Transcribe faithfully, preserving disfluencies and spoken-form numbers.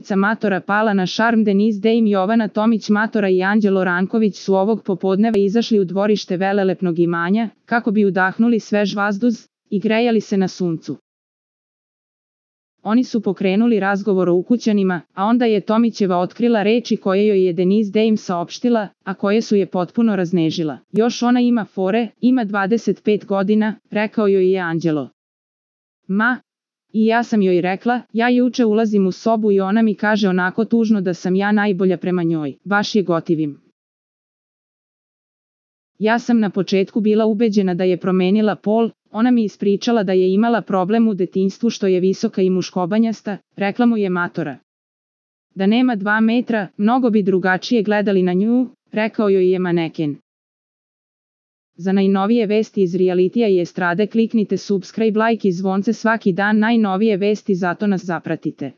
Dvojica matora pala na šarm. Denise Dame, Jovana Tomić matora i Anđelo Ranković su ovog popodneva izašli u dvorište velelepnog imanja, kako bi udahnuli svež vazduh i grejali se na suncu. Oni su pokrenuli razgovor o ukućanima, a onda je Tomićeva otkrila reči koje joj je Denise Dame saopštila, a koje su je potpuno raznežila. Još ona ima fore, ima dvadeset pet godina, rekao joj je Anđelo. Ma, i ja sam joj rekla, ja juče ulazim u sobu i ona mi kaže onako tužno da sam ja najbolja prema njoj, baš je gotivim. Ja sam na početku bila ubeđena da je promenila pol, ona mi ispričala da je imala problem u detinjstvu što je visoka i muškobanjasta, rekla mu je matora. Da nema dva metra, mnogo bi drugačije gledali na nju, rekao joj je maneken. Za najnovije vesti iz realitija i estrade kliknite subscribe, like i zvonce svaki dan, najnovije vesti, zato nas zapratite.